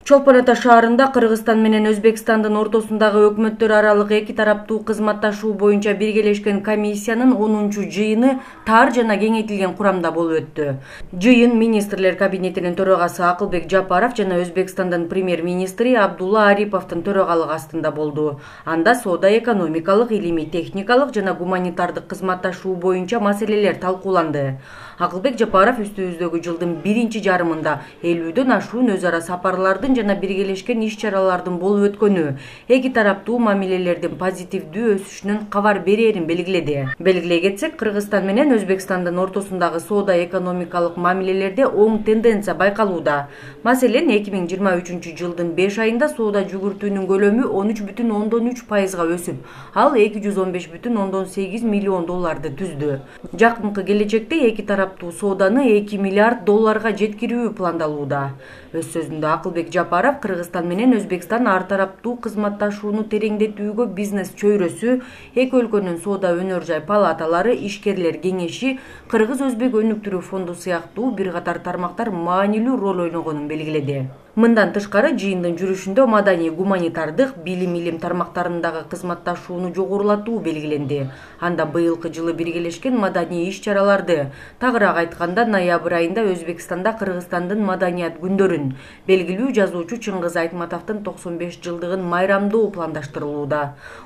Чолпон Ата шаарында Кыргызстан менен Өзбекстандын ортосундагы өкмөттөр аралык эки тараптуу кызматташуу боюнча биргелешкен комиссиянын 10-жыйыны тар жана кеңейтилген курамда болуп өттү. Жыйын министрлер кабинетинин төрагасы Акылбек Жапаров жана Өзбекстандын премьер-министри Абдулла Ариповдун төрагалыгы астында болду. Анда соода-экономикалык, илимий-техникалык жана гуманитардык кызматташуу боюнча маселелер талкууланды. Акылбек Жапаров үстүбүздөгү жылдын биринчи жарымында 50дөн ашуун өз ара сапарлардын жана биргелешкен иш-чаралардын болуп өткөнү, эки тараптуу мамилелердин позитивдүү өсүшүнөн кабар берерин белгиледи. Белгилей кетсек, Кыргызстан менен Өзбекстандын ортосундагы соода-экономикалык мамилелерде оң тенденция байкалууда. Маселен, 2023 жылдын 5 айында соода жүгүртүүнүн көлөмү 13,3%га өсүп, ал 215,8 миллион долларды түздү. Жакынкы келечекте эки тараптуу сооданы 2 миллиард долларга жеткирүү пландалууда. Өз сөзүндө Акылбек Жапаров Кыргызстан менен Өзбекстан ар тараптуу кызматташууну тереңдетүүгө бизнес чөйрөсү, эки өлкөнүн соода өнөр жай палаталары, ишкерлер кеңеши, Кыргыз-Өзбек өнүктүрүү фонду сыяктуу бир катар тармактар маанилүү роль ойногонун белгиледи. Мындан тышкары, жыйындын жүрүшүндө маданий, гуманитардык, билим тармактарындагы кызматташууну жогорулатуу белгиленди. Анда быйылкы жылы биргелешкен маданий иш-чараларды, тагыраак айтканда, ноябрь айында Өзбекстанда Кыргызстандын маданият күндөрүн, белгилүү жазуучу Чыңгыз Айтматовдун 95 жылдыгын майрамдоо пландаштырылууда.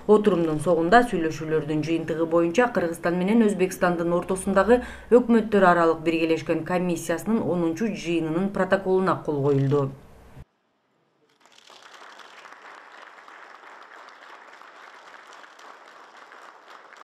Отурумдун соңунда сүйлөшүүлөрдүн жыйынтыгы боюнча Кыргызстан менен Өзбекстандын ортосундагы өкмөттөр аралык биргелешкен комиссиясынын 10-жыйынынын протоколуна кол коюлду.